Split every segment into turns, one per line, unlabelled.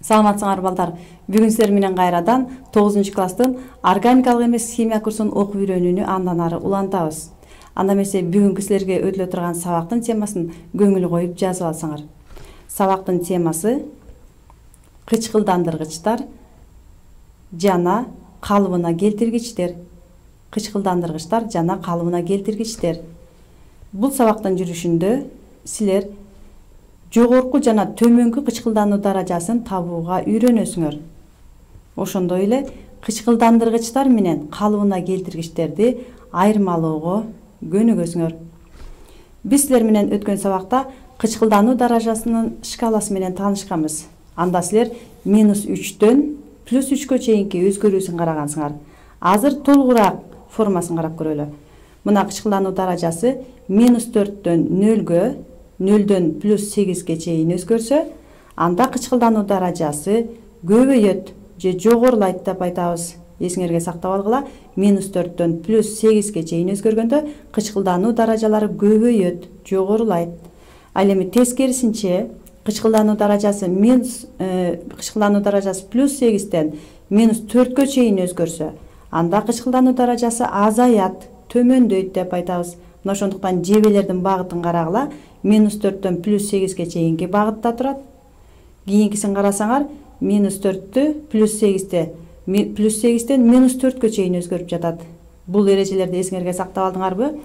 Саламатсыңар балдар. Бүгүн силер менен кайрадан 9-класстын органикалык эмес химия курсун окуп үйрөнүүнү андан ары улантабыз. Анда эмесе бүгүнкү силерге өтүлө турган сабактын темасын көңүл коюп жазып алсаңар. Сабактын темасы кычкылдандыргычтар жана калыбына келтиргичтер. Кычкылдандыргычтар жана калыбына келтиргичтер. Бул сабактын жүрүшүндө силер жогорку жана төмөнкү кычкылдануу даражасын табууга үйрөнөсүңөр. Ошондой эле кычкылдандыргычтар менен калыбына келтиргичтерди айырмалоого көнүгөсүңөр. Биз силер менен өткөн сабакта кычкылдануу даражасынын шкаласы менен таанышканбыз. Анда силер -3дөн +3кө чейинки өзгөрүүсүн карагансыңар. Азыр толугураак формасын карап көрөлү. Мына кычкылдануу даражасы -4дөн 0г, 0дөн +8ге чейин өзгөрсө, анда кычкылдануу даражасы көбөйөт же жогорулайт деп айтабыз. Эсиңерге сактап алгыла, -4дөн +8ге чейин өзгөргөндө кычкылдануу даражалары көбөйөт, жогорулайт. Ал эми тескерисинче кычкылдануу даражасы +8ден -4кө чейин өзгөрсө, анда кычкылдануу даражасы азаят, төмөндөйт деп айтабыз. Мына ошондуктан жебелердин багытын карагыла, -4дөн +8ге чейинки багытта турат. Кийинкисин карасаңар, -4тү +8ден -4кө чейин өзгөрүп жатат. Бул эрежелерди эсиңерге сактап алдыңарбы?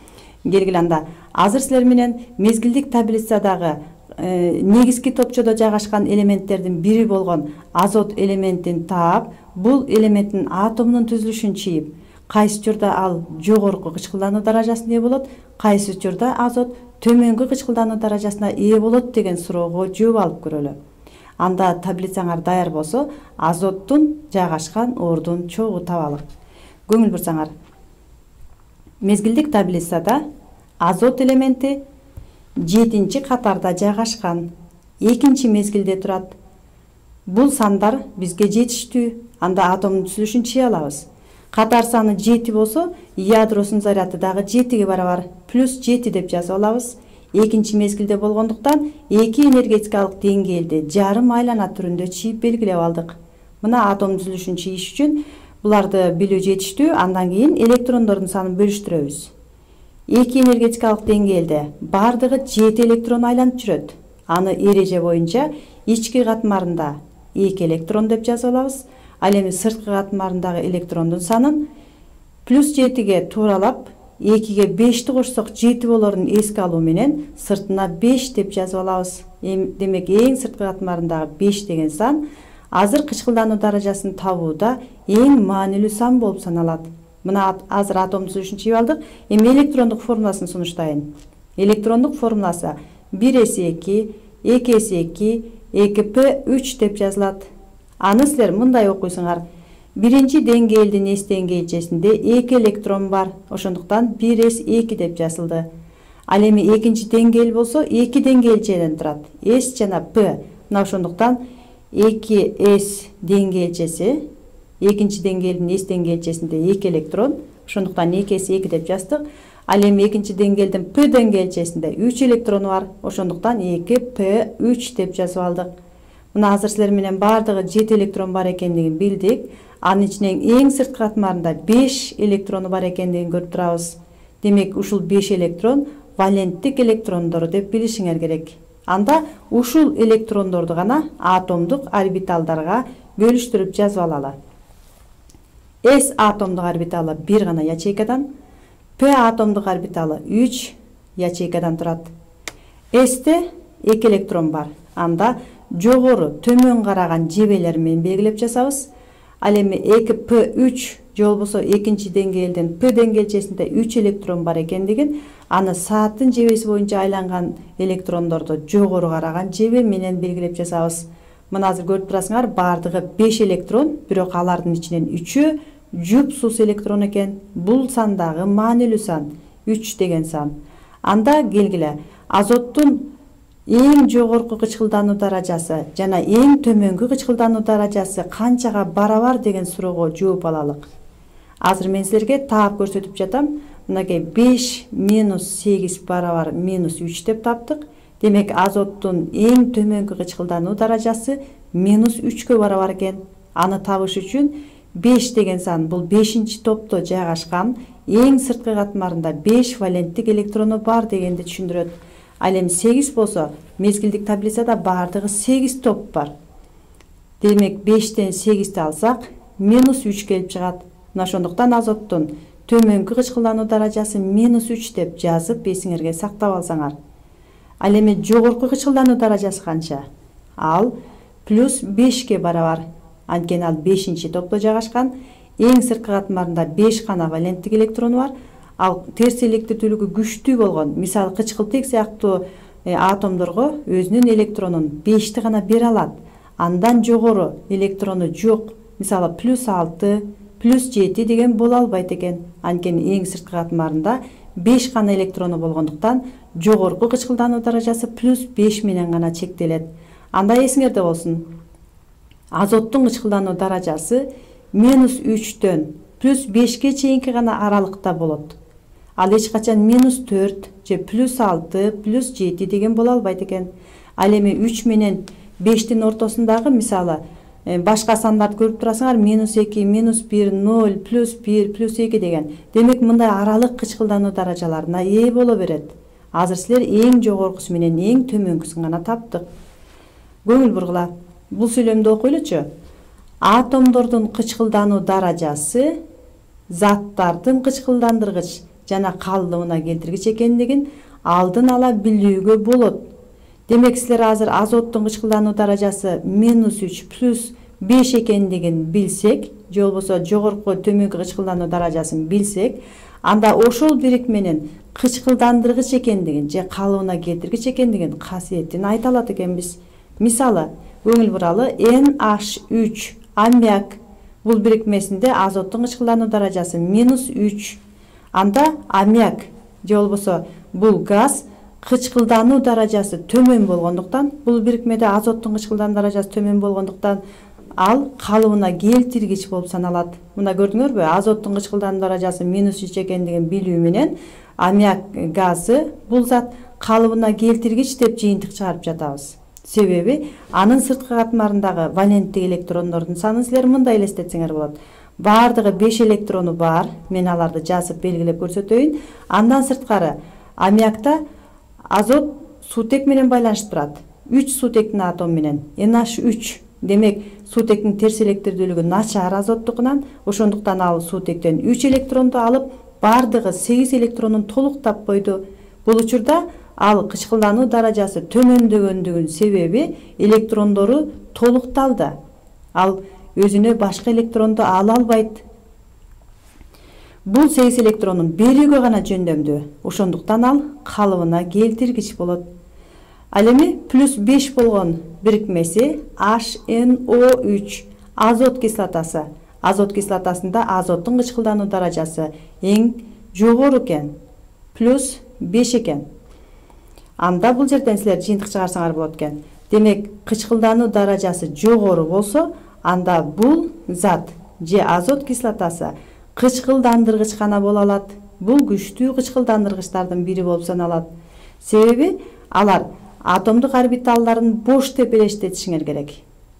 Келгиле анда. Азыр силер менен мезгилдик таблицадагы негизги топчодо жайгашкан элементтердин бири болгон азот элементин таап, бул элементтин атомунун түзүлүшүн чийип, кайсы учурда ал жогорку кычкылдануу даражасына ээ болот, кайсы учурда азот төмөнкү кычкылдануу даражасына ээ болот деген суроого жооп алып көрөлү. Анда таблицаңар даяр болсо, азоттун жайгашкан ордун чогуу табалы. Көңүл бурсаңар. Мезгилдик таблицада азот элементи 7-катарда жайгашкан, 2 мезгилде турат. Бул сандар бизге жетиштүү. Анда атомдун түзүлүшүн чыйа алабыз. Катар саны 7 болсо, ядросунун заряды дагы 7ге барабар, +7 деп жазып алабыз. 2 мезгилде болгондуктан 2 энергетикалык деңгээлди жарым айлана түрүндө чийип белгилеп алдык. Мына атом түзүлүшүн чийиш үчүн буларды билүү жетиштүү. Андан кийин электрондордун санын бөлүштүрөбүз. 2 энергетикалык деңгээлде бардыгы 7 электрон айланып жүрөт. Аны эреже боюнча ички катмарында 2 электрон деп жазып алабыз. Ал эми сырткы катмарындагы электрондун санын +7ге тууралап 2ге 5ти кошсок 7 болорун эске алуу менен сыртына 5 деп жазып алабыз. Демек эң сырткы катмарындагы 5 деген сан азыр кычкылдануу даражасын табууда эң маанилүү сан болуп саналат. Мына азыр атом түзүлүшүн чийип алдык. Эми электрондук формуласын сунуштайын. Электрондук формуласы 1s2, 2s2, 2p3 деп жазылат. Аны силер мындай окуйсуңар. Биринчи деңгээлдин S деңгээлчесинде 2 электрон бар. Ошондуктан 1s2 деп жазылды. Ал эми экинчи деңгээл болсо 2 деңгээлчеден турат. S жана P. Мына ошондуктан 2s деңгээлчеси, экинчи деңгээлдин S деңгээлчесинде 2 электрон. Ошондуктан 2s2 деп жаздык. Ал эми экинчи деңгээлдин P деңгээлчесинде 3 электрону бар. Ошондуктан 2p3 деп жазып алдык. Мына азыр силер менен бардыгы 7 электрон бар экендигин билдик. Анын ичинен эң сырткы катмарында 5 электрону бар экендигин көрүп турабыз. Демек ушул 5 электрон валенттик электрондор деп билишиңер керек. Анда ушул электрондорду гана атомдук орбиталдарга бөлүштүрүп жазып алалы. S атомдук орбиталы 1 гана ячейкадан, P атомдук орбиталы 3 ячейкадан турат. S'те 2 электрон бар. Анда жогору төмөн караган жебелер менен белгилеп жазабыз. Ал эми 2p3 же болбосо экинчи деңгээлдин P деңгээлчесинде 3 электрон бар экендигин, аны сааттын жебеси боюнча айланган электрондорду жогору караган жебе менен белгилеп жазабыз. Мына азыр көрүп турасыңар, бардыгы 5 электрон, бирок алардын ичинен 3-ü жупсуз электрон экен. Бул сан дагы маанилүү сан, 3 деген сан. Анда келгиле, азоттун эң жогорку кычкылдануу даражасы жана эң төмөнкү кычкылдануу даражасы канчага барабар деген суроого жооп алалык. Азыр мен силерге таап көрсөтүп жатам. Мынакей 5 - 8 барабар -3 деп таптык. Демек азоттун эң төмөнкү кычкылдануу даражасы -3кө барабар экен. Аны табыш үчүн 5 деген сан бул 5-чи топто жайгашкан эң сырткы катмарында 5 валенттик электрону бар дегенди түшүндүрөт. Ал эми 8 болсо, мезгилдик таблицада бардыгы 8 топ бар. Демек 5тен 8ти алсак, -3 келип чыгат. Мына ошондуктан азоттун төмөнкү кычкылдануу даражасы -3 деп жазып эсиңерге сактап алсаңар. Ал эми жогорку кычкылдануу даражасы канча? Ал +5ке барабар. Анткени ал 5-чи топто жайгашкан, эң сырткы катмарында 5 гана валенттик электрону бар. Ал терс электрлүүлүгү күчтүү болгон, мисалы кычкылтек сыяктуу атомдорго өзүнүн электронун 5ти гана бере алат. Андан жогору электрону жок, мисалы +6, +7 деген боло албайт экен. Анткени эң сырткы катмарында 5 гана электрону болгондуктан жогорку кычкылдануу даражасы +5 менен гана чектелет. Анда эсиңерде болсун. Азоттун кычкылдануу даражасы -3төн +5ке чейинки гана аралыкта болот. Ал эч качан -4 же +6, +7 деген боло албайт экен. Ал эми 3 менен 5тин ортосундагы, мисалы, башка сандарды көрүп турасыңар, -2, -1, 0, +1, +2 деген. Демек мындай аралык кычкылдануу даражаларына ээ боло берет. Азыр силер эң жогоркусу менен эң төмөнкүсүн гана таптык. Көңүл бургула. Бул сүйлөмдү окуйлучу. Атомдордун кычкылдануу даражасы заттардын кычкылдандыргыч жана калдыбына келтиргич экендигин алдын ала билүүгө болот. Демек силер азыр азоттун кычкылдануу даражасы -3 +5 экендигин билсек, же болбосо жогорку төмөнкү кычкылдануу даражасын билсек, анда ошол бирикменин кычкылдандыргыч экендигин же калыбына келтиргич экендигин касиетин айта алат экенбиз. Мисалы, көңүл буралы, NH3 аммиак бул бирикмесинде азоттун кычкылдануу даражасы -3. Анда аммиак же болбосо бул газ кычкылдануу даражасы төмөн болгондуктан, бул бирикмеде азоттун кычкылдануу даражасы төмөн болгондуктан ал калыбына келтиргич болуп саналат. Мына көрдүңөрбү? Азоттун кычкылдануу даражасы -3 экендигин билүү менен аммиак газы бул зат калыбына келтиргич деп жыйынтык чыгарып жатабыз. Себеби анын сырткы катмарындагы валенттик электрондордун санын силер мындай элестетсеңер болот. Бардыгы 5 электрону бар. Мен аларды жазып белгилеп көрсөтөйүн. Андан сырткары аммиакта азот суутек менен байланышып турат. 3 суутектин атому менен NH3. Демек суутектин терс электрлүүлүгү начар азоттукунан, ошондуктан ал суутектен 3 электронду алып, бардыгы 8 электронун толук таппойду. Бул учурда ал кычкылдануу даражасы төмөндөгөндүгүнүн себеби электрондору толукталды. Ал өзүнө башка электронду ала албайт. Бул 8 электронун берүүгө гана жөндөмдүү. Ошондуктан ал калыбына келтиргич болот. Ал эми +5 болгон бирикмеси HNO3 азот кислотасы. Азот кислотасында азоттун кычкылдануу даражасы эң жогору экен. +5 экен. Анда бул жерден силер жыйынтык чыгарсаңар болот экен. Демек, кычкылдануу даражасы жогору болсо, анда бул зат же азот кислотасы кычкылдандыргыч гана боло алат. Бул күчтүү кычкылдандыргычтардын бири болуп саналат. Себеби алар атомдук орбиталдарын бош деп элестетишиңер керек.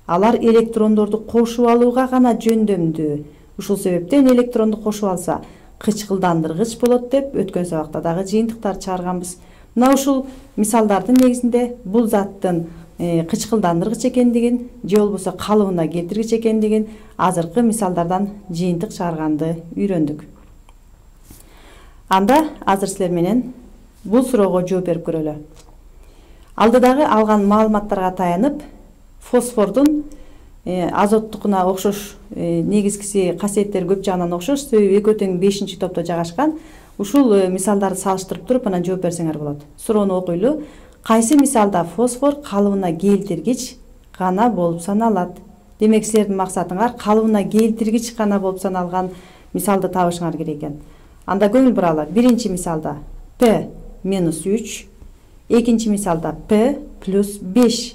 Алар электрондорду кошуп алууга гана жөндөмдүү. Ушул себептен электронду кошуп алса, кычкылдандыргыч болот деп өткөн сабакта дагы жыйынтыктар чыгарганбыз. Мына ушул мисалдардын негизинде бул заттын кычкылдандыргыч экендигин же болбосо калыбына келтиргич экендигин азыркы мисалдардан жыйынтык чыгарганды үйрөндүк. Анда азыр силер менен бул суроого жооп берип көрөлү. Алдыдагы алган маалыматтарга таянып, фосфордун азоттукуна окшош негизгиси касиеттери көп жагынан окшош, себеби экөө тең 5-чи топто жайгашкан. Ушул мисалдарды салыштырып туруп анан жооп берсеңер болот. Суроону окуйлу. Кайсы мисалда фосфор калыбына келтиргич гана болуп саналат? Демек, силердин максатыңар калыбына келтиргич гана болуп саналган мисалды табышыңар керек экен. Анда көңүл буралы. Биринчи мисалда P-3, экинчи мисалда P+5.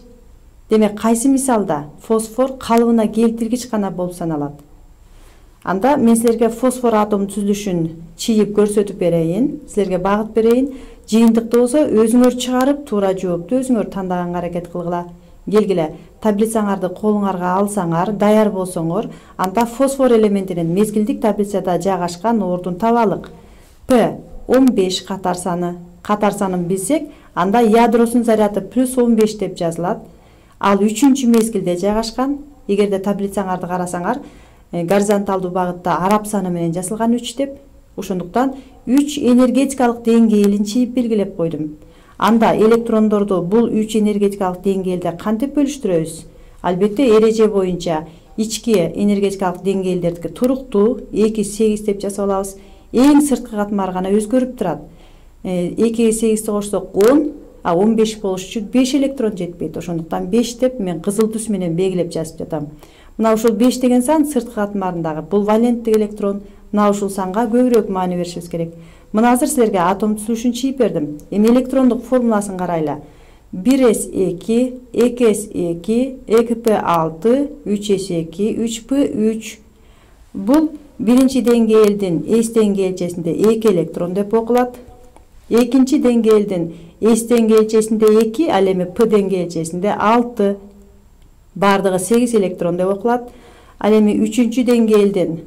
Демек, кайсы мисалда фосфор калыбына келтиргич гана болуп саналат? Анда мен силерге фосфор атомунун түзүлүшүн чийип көрсөтүп берейин, силерге багыт берейин. Жыйынтыкты болсо өзүңөр чыгарып туура жоопту өзүңөр тандаганга аракет кылгыла. Келгиле, таблицаңарды колуңарга алсаңар, даяр болсоңор, анда фосфор элементинин мезгилдик таблицада жайгашкан ордун табалык. П 15 катар саны. Катар санын билсек, анда ядросунун заряды плюс 15 деп жазылат. Ал 3-чү мезгилде жайгашкан. Эгерде таблицаңарды карасаңар, горизонталдуу багытта араб саны менен жазылган 3 деп. Ошондуктан 3 энергетикалык деңгээлин чийип белгилеп койдум. Анда электрондорду бул 3 энергетикалык деңгээлде кантип бөлүштүрөбүз? Албетте эреже боюнча ички энергетикалык деңгээлдердики туруктуу 2-8 деп жасап алабыз. Эң сырткы катмар гана өзгөрүп турат. 2-ге 8-ти кошсок 10, а 15 болуш үчүн 5 электрон жетпейт. Ошондуктан 5 деп мен кызыл түс менен белгилеп жазып жатам. Мына ушул 5 деген сан сырткы катмарындагы бул валенттик электрон. Мына ушул санга көбүрөөк маани беришибиз керек. Мына азыр силерге атом түзүлүшүн чийип бердим. Эми электрондук формуласын карайлы. 1s2, 2s2, 2p6, 3s2, 3p3. Бул биринчи деңгээлдин S деңгээлчесинде 2 электрон деп окулат. Экинчи деңгээлдин S деңгээлчесинде 2, ал эми P деңгээлчесинде 6. Бардыгы 8 электрон деп окулат. Ал эми үчүнчү деңгээлдин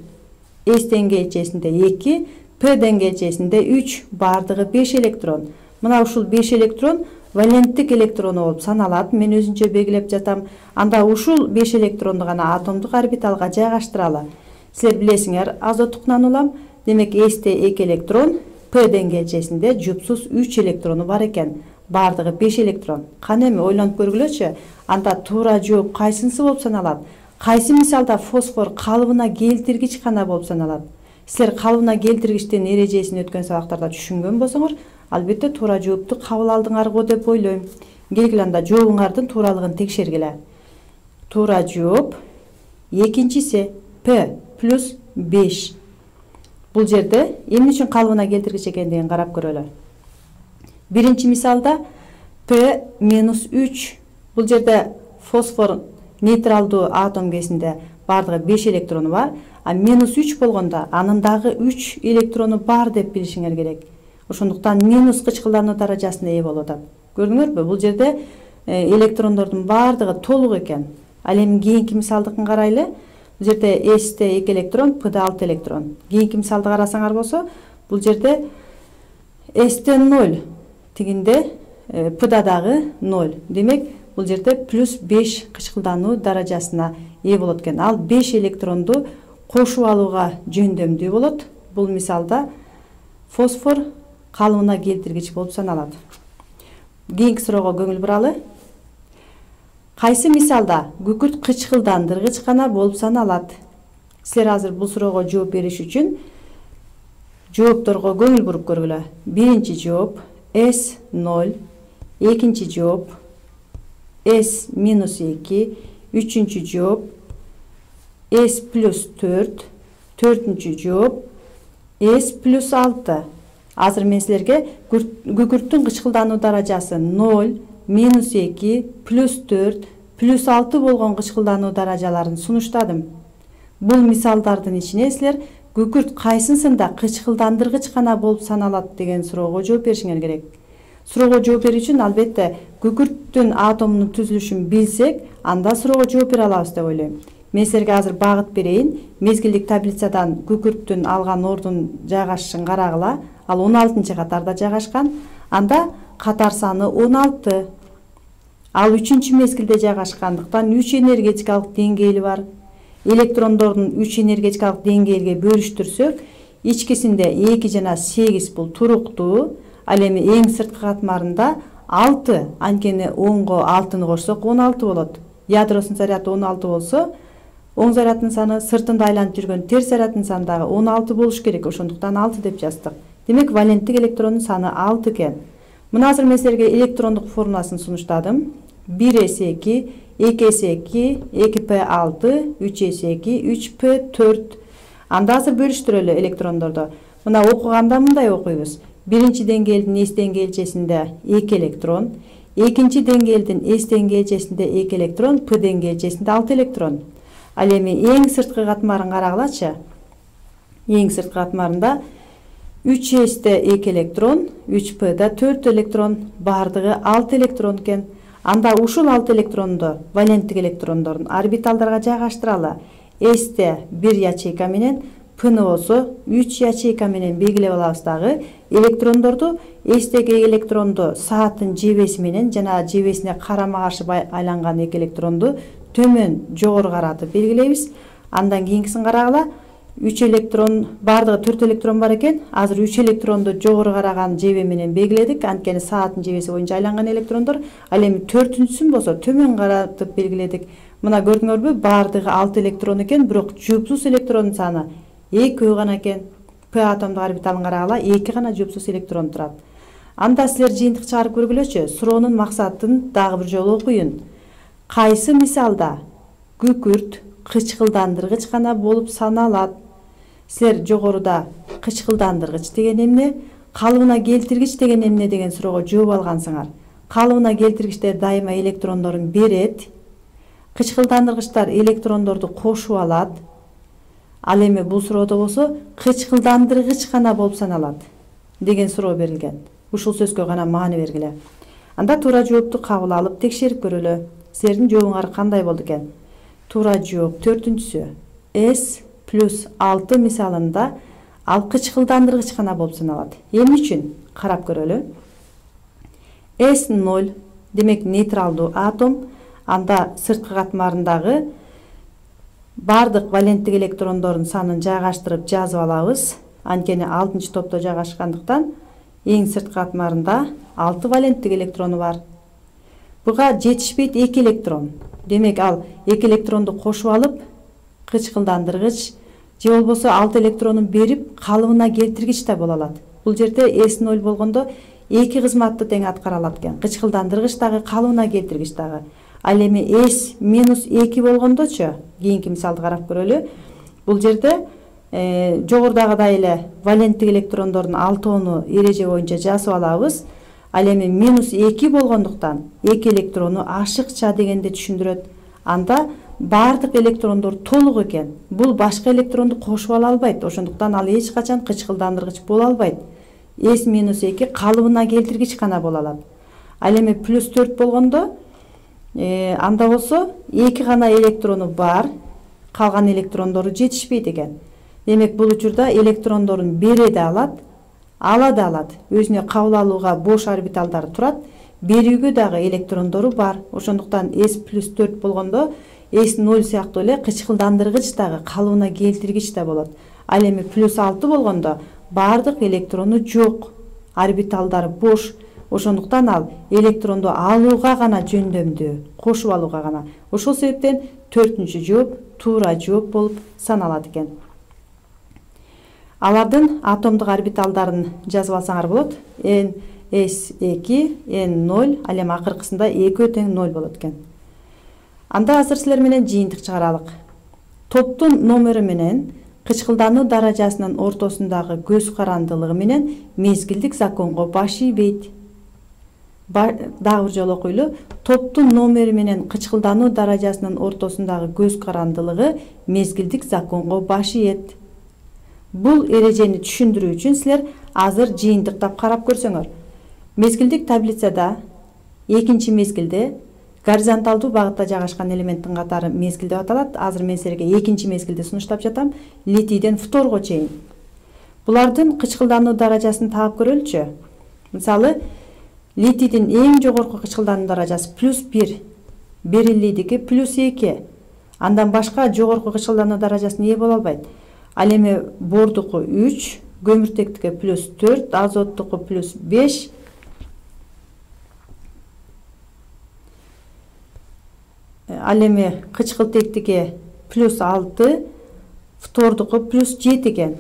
S деңгээлчесинде 2, P деңгээлчесинде 3, бардыгы 5 электрон. Мына ушул 5 электрон валенттик электрону болуп саналат. Мен өзүнчө белгилеп жатам. Анда ушул 5 электронду гана атомдук орбиталга жайгаштыралы. Силер билесиңер, азоттук нанолам. Демек S'те 2 электрон, P деңгээлчесинде жупсуз 3 электрону бар экен. Бардыгы 5 электрон. Кана эми ойлонуп көргүлөчү. Анда туура жооп кайсынысы болуп саналат? Кайсы мисалда фосфор калыбына келтиргич гана болуп саналат? Силер калыбына келтиргичтин эрежесин өткөн сабактарда түшүнгөн болсоңор, албетте туура жоопту кабыл алдыңар го деп ойлойм. Келгиле анда жообуңардын тууралыгын текшергиле. Туура жооп экинчиси P плюс 5. Бул жерде эмне үчүн калыбына келтиргич экендигин карап көрөлү. Биринчи мисалда P минус 3. Бул жерде фосфор нейтралдуу атом кезинде бардыгы 5 электрону бар, а минус 3 болгондо анын дагы 3 электрону бар деп билишиңер керек. Ошондуктан минус кычкылдануу даражасына ээ болуп атат. Көрдүңөрбү? Бул жерде электрондордун бардыгы толук экен. Ал эми кийинки мисалдыкын карайлы. Бул жерде S'те 2 электрон, P'де 6 электрон. Кийинки мисалды карасаңар болсо, бул жерде S'те 0, тигинде P'да дагы 0. Демек, бул жерде плюс 5 кычкылдануу даражасына ээ болот экен. Ал 5 электронду кошуп алууга жөндөмдүү болот. Бул мисалда фосфор калыбына келтиргич болуп саналат. Кийинки суроого көңүл буралы. Кайсы мисалда күкүрт кычкылдандыргыч гана болуп саналат? Силер азыр бул суроого жооп бериш үчүн жоопторго көңүл буруп көргүлө. Биринчи жооп S0, экинчи жооп S минус 2, үчүнчү жооп S плюс 4, төртүнчү жооп S плюс 6. Азыр мен силерге күкүрттүн кычкылдануу даражасы 0, минус 2, плюс 4, плюс 6 болгон кычкылдануу даражаларын сунуштадым. Бул мисалдардын ичине силер күкүрт кайсысында кычкылдандыргыч гана болуп саналат деген суроого жооп беришиңер керек. Суроого жооп берүү үчүн албетте күкүрттүн атомунун түзүлүшүн билсек, анда суроого жооп бере алабыз деп ойлойм. Мен силерге азыр багыт берейин. Мезгилдик таблицадан күкүрттүн алган ордун жайгашышын карагыла. Ал 16-чы катарда жайгашкан. Анда катар саны 16. Ал 3-чү мезгилде жайгашкандыктан 3 энергетикалык деңгээли бар. Электрондордун 3 энергетикалык деңгээлге бөлүштүрсөк, ичкисинде 2 жана 8 бул туруктуу. Ал эми эң сырткы катмарында 6, анткени 10го 6-ны кошсок 16 болот. Ядросунун заряды 16 болсо, оң заряддын саны сыртында айланып жүргөн терс заряддын саны дагы 16 болуш керек. Ошондуктан 6 деп жаздык. Демек, валенттик электрондун саны 6 экен. Мына азыр мен силерге электрондук формуласын сунуштадым. 1s2, 2s2, 2p6, 3s2, 3p4. Анда азыр бөлүштүрөлү электрондорду. Мына окуганда мындай окуйбуз. Биринчи деңгээлдин S деңгээлчесинде 2 электрон, экинчи деңгээлдин S деңгээлчесинде 2 электрон, P деңгээлчесинде 6 электрон. Ал эми эң сырткы катмарын карагылачы. Эң сырткы катмарында 3s'те 2 электрон, 3p'da 4 электрон, бардыгы 6 электрон экен. Анда ушул 6 электронду валенттик электрондордун орбиталдарга жайгаштыралы. S'те 1 ячейка менен, P'ны болсо 3 ячейка менен белгилеп алабыз дагы. Электрондорду S'теги электронду сааттын жебеси менен жана жебесине карама-каршы айланган 2 электронду төмөн жогору каратып белгилейбиз. Андан кийинкисин карагыла. 3 электрон, бардыгы 4 электрон бар экен. Азыр 3 электронду жогору караган жебе менен белгиледик. Анткени сааттын жебеси боюнча айланган электрондор. Ал эми 4-сүн болсо төмөн каратып белгиледик. Мына көрдүңөрбү? Бардыгы 6 электрон экен, бирок жупсуз электрондун саны 2 гана экен. P атомдук орбиталын карагыла, 2 гана жупсуз электрон турат. Анда силер жыйынтык чыгарып көргүлөчү. Суроонун максатын дагы бир жолу окуйун. Кайсы мисалда күкүрт кычкылдандыргыч гана болуп саналат? Силер жогоруда кычкылдандыргыч деген эмне, калыбына келтиргич деген эмне деген суроого жооп алгансыңар. Калыбына келтиргичтер дайыма электрондорун берет. Кычкылдандыргычтар электрондорду кошуп алат. Ал эми бул суроодо болсо кычкылдандыргыч гана болуп саналат деген суроо берилген. Ушул сөзгө гана маани бергиле. Анда туура жоопту кабыл алып текшерип көрөлү. Силердин жообуңар кандай болду экен? Туура жооп 4-сү. S плюс 6 мисалында ал кычкылдандыргыч гана болуп саналат. Эмне үчүн? Карап көрөлү. S0 демек нейтралдуу атом. Анда сырткы катмарындагы бардык валенттик электрондордун санын жайгаштырып жазып алабыз. Анткени 6-топто жайгашкандыктан эң сырткы катмарында 6 валенттик электрону бар. Буга жетишпейт 2 электрон. Демек ал 2 электронду кошуп алып, кычкылдандыргыч же болбосо 6 электронун берип калыбына келтиргич да боло алат. Бул жерде S0 болгондо 2 кызматты тең аткара алат экен. Кычкылдандыргыч дагы, калыбына келтиргич дагы. Ал эми S минус 2 болгондочу, кийинки мисалды карап көрөлү. Бул жерде жогорудагыдай эле валенттик электрондордун 6-ону эреже боюнча жазып алабыз. Ал эми минус 2 болгондуктан 2 электрону ашыкча дегенди түшүндүрөт. Анда бардык электрондор толук экен. Бул башка электронду кошуп ала албайт. Ошондуктан ал эч качан кычкылдандыргыч боло албайт. S минус 2 калыбына келтиргич гана боло алат. Ал эми плюс 4 болгондо анда болсо 2 гана электрону бар, калган электрондору жетишпейт экен. Демек бул учурда электрондорун бере да алат, ала да алат. Өзүнө кабыл алууга бош орбиталдары турат, берүүгө дагы электрондору бар. Ошондуктан S плюс 4 болгондо S0 сыяктуу эле кычкылдандыргыч дагы, калыбына келтиргич да болот. Ал эми плюс 6 болгондо бардык электрону жок, орбиталдары бош. Ошондуктан ал электронду алууга гана жөндөмдүү, кошуп алууга гана. Ошол себептен 4-чү жооп туура жооп болуп саналат экен. Алардын атомдук орбиталдарын жазып алсаңар болот. S2, N0, ал эми акыркысында 2 тең 0 болот экен. Анда азыр силер менен жыйынтык чыгаралык. Топтун номери менен кычкылдануу даражасынын ортосундагы көз карандылыгы менен мезгилдик законго баш ийбейт. Дагы бир жолу окуйлу. Топтун номери менен кычкылдануу даражасынын ортосундагы көз карандылыгы мезгилдик законго баш ийет. Бул эрежени түшүндүрүү үчүн силер азыр жыйынтыктап карап көрсөңөр. Мезгилдик таблицада экинчи мезгилде горизонталдуу багытта жайгашкан элементтин катары мезгил деп аталат. Азыр мен силерге экинчи мезгилди сунуштап жатам. Литийден фторго чейин. Булардын кычкылдануу даражасын таап көрөлүчү. Мисалы, литийдин эң жогорку кычкылдануу даражасы плюс 1, бериллийдики плюс 2. Андан башка жогорку кычкылдануу даражасына ээ боло албайт. Ал эми бордуку 3, көмүртектики плюс 4, азоттуку плюс 5. Ал эми кычкылтектики плюс 6, фтордуку плюс 7 экен.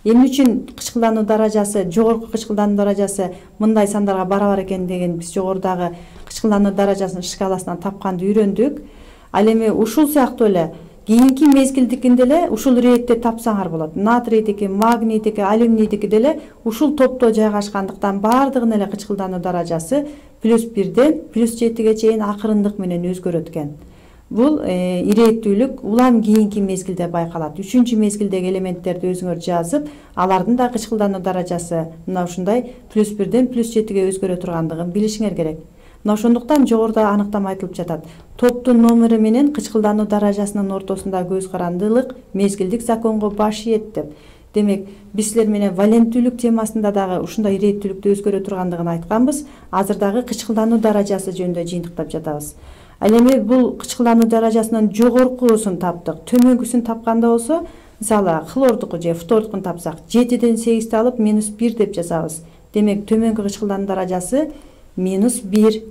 Эмне үчүн кычкылдануу даражасы, жогорку кычкылдануу даражасы мындай сандарга барабар экен деген биз жогорудагы кычкылдануу даражасынын шкаласынан тапканды үйрөндүк. Ал эми ушул сыяктуу эле кийинки мезгилдикинде эле ушул иретте тапсаңар болот. Натрийдики, магнийдики, алюминийдики деле ушул топто жайгашкандыктан бардыгынын эле кычкылдануу даражасы плюс 1ден плюс 7ге чейин акырындык менен өзгөрөт экен. бул ирээттүүлүк улам кийинки мезгилде байкалат. 3-чү мезгилдеги элементтерди өзүңөр жазып, алардын да кычкылдануу даражасы мына ушундай +1ден +7ге өзгөрө тургандыгын билишиңер керек. Мына ошондуктан жогоруда аныктама айтылып жатат. Топтун номери менен кычкылдануу даражасынын ортосундагы көз карандылык мезгилдик законго баш ийет деп. Демек, биз силер менен валенттүүлүк темасында дагы ушундай ирээттүүлүктү өзгөрө тургандыгын айтканбыз. Азыр дагы кычкылдануу даражасы жөнүндө жыйынтыктап жатабыз. Ал эми бул кычкылдануу даражасынын жогоркусун таптык. Төмөнкүсүн тапканда болсо, мисалы хлордуку же фтордукун тапсак, 7ден 8ти алып -1 деп жазабыз. Демек, төмөнкү кычкылдануу даражасы -1.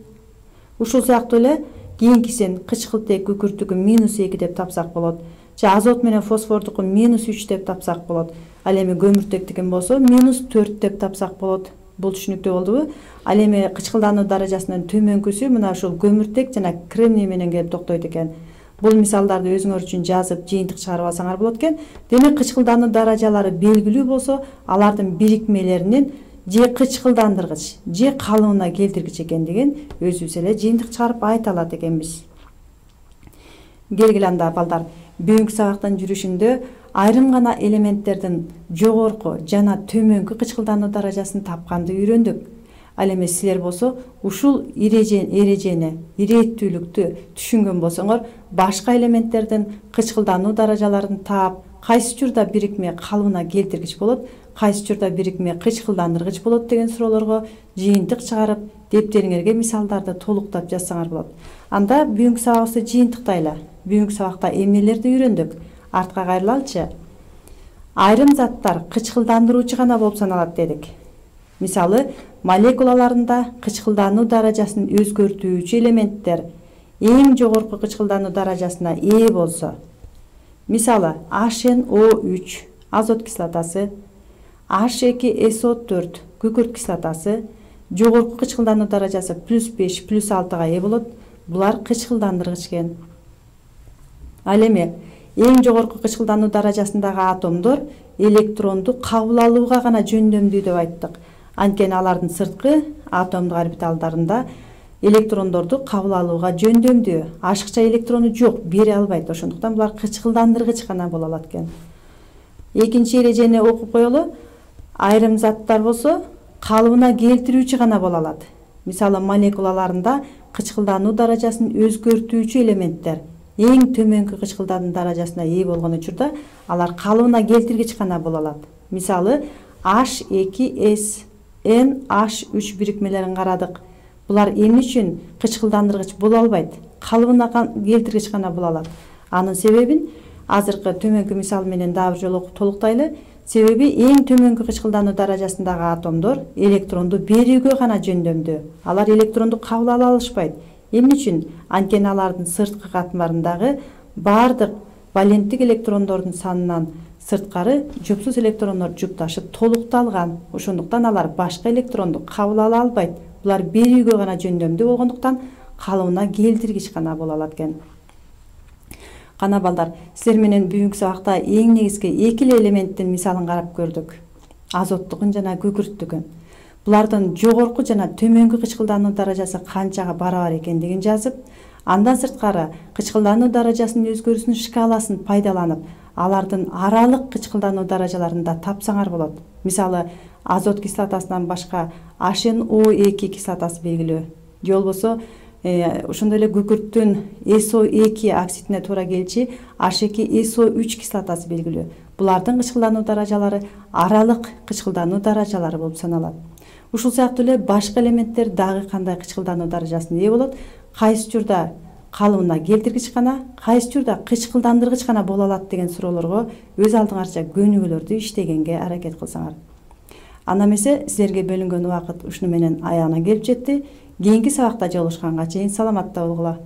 Ушул сыяктуу эле кийинкисин кычкылтек күкүрттүкү -2 деп тапсак болот. Же азот менен фосфордуку -3 деп тапсак болот. Ал эми көмүртектикин болсо -4 деп тапсак болот. Бул түшүнүктүү болдубу? Ал эми кычкылдануу даражасынын төмөнкүсү мына ушул көмүртек жана кремний менен келип токтойт экен. Бул мисалдарды өзүңөр үчүн жазып, жыйынтык чыгарып алсаңар болот экен. Демек, кычкылдануу даражалары белгилүү болсо, алардын бирикмелеринин же кычкылдандыргыч, же калыбына келтиргич экендигин өзүбүз эле жыйынтык чыгарып айта алат экенбиз. Келгиле анда балдар, бүгүнкү сабактын жүрүшүндө айрым гана элементтердин жогорку жана төмөнкү кычкылдануу даражасын тапканды үйрөндүк. Ал эми силер болсо ушул эрежени, ирээттүүлүктү түшүнгөн болсоңор, башка элементтердин кычкылдануу даражаларын таап, кайсы учурда бирикме калыбына келтиргич болот, кайсы учурда бирикме кычкылдандыргыч болот деген суроолорго жыйынтык чыгарып, дептериңерге мисалдарды толуктап жазсаңар болот. Анда бүгүнкү сабагыбызды жыйынтыктайлы. Бүгүнкү сабакта эмнелерди үйрөндүк? Артка кайрылалычы. Айрым заттар кычкылдандыруучу гана болуп саналат дедик. Мисалы, молекулаларында кычкылдануу даражасын өзгөртүүчү элементтер эң жогорку кычкылдануу даражасына ээ болсо, мисалы, HNO3 азот кислотасы, H2SO4 күкүрт кислотасы жогорку кычкылдануу даражасы +5, +6га ээ болот. Булар кычкылдандыргыч экен. Ал эми эң жогорку кычкылдануу даражасындагы атомдор электронду кабыл алууга гана жөндөмдүү деп айттык. Анткени алардын сырткы атомдук орбиталдарында электрондорду кабыл алууга жөндөмдүү. Ашыкча электрону жок, бере албайт. Ошондуктан булар кычкылдандыргыч гана боло алат экен. Экинчи эрежени окуп коелу. Айрым заттар болсо калыбына келтирүүчү гана боло алат. Мисалы, молекулаларында кычкылдануу даражасын өзгөртүүчү элементтер эң төмөнкү кычкылдануу даражасына ээ болгон учурда алар калыбына келтиргич гана боло алат. Мисалы, H2S NH3 бирикмелерин карадык. Булар эмне үчүн кычкылдандыргыч боло албайт? Калыбына келтиргич гана боло алат. Анын себебин азыркы төмөнкү мисал менен дагы бир жолу окуп толуктайлы. Себеби эң төмөнкү кычкылдануу даражасындагы атомдор электронду берүүгө гана жөндөмдүү. Алар электронду кабыл ала алышпайт. Эмне үчүн? Анткени алардын сырткы катмарындагы бардык валенттик электрондордун санынан сырткары жупсуз электрондор жупташып толукталган. Ошондуктан алар башка электронду кабыл ала албайт. Булар берүүгө гана жөндөмдүү болгондуктан калыбына келтиргич гана боло алат экен. Кана балдар, силер менен бүгүнкү сабакта эң негизги эки элементтин мисалын карап көрдүк. Азоттукун жана күкүрттүкүн. Булардын жогорку жана төмөнкү кычкылдануу даражасы канчага барабар экендигин жазып, андан сырткары кычкылдануу даражасынын өзгөрүүсүнүн шкаласын пайдаланып, алардын аралык кычкылдануу даражаларында тапсаңар болот. Мисалы, азот кислотасынан башка HNO2 кислотасы белгилүү. Же болбосо ошондой эле күкүрттүн SO2 оксидине туура келчи H2SO3 кислотасы белгилүү. Булардын кычкылдануу даражалары аралык кычкылдануу даражалары болуп саналат. Ушул сыяктуу эле башка элементтер дагы кандай кычкылдануу даражасына ээ болот? Кайсы учурда калыбына келтиргич гана, кайсы учурда кычкылдандыргыч гана боло алат деген суроолорго өз алдыңарча көнүгүүлөрдү иштегенге аракет кылсаңар. Анда эмесе силерге бөлүнгөн убакыт ушуну менен аягына келип жетти. Кийинки сабакта жолугушканга чейин саламатта болгула.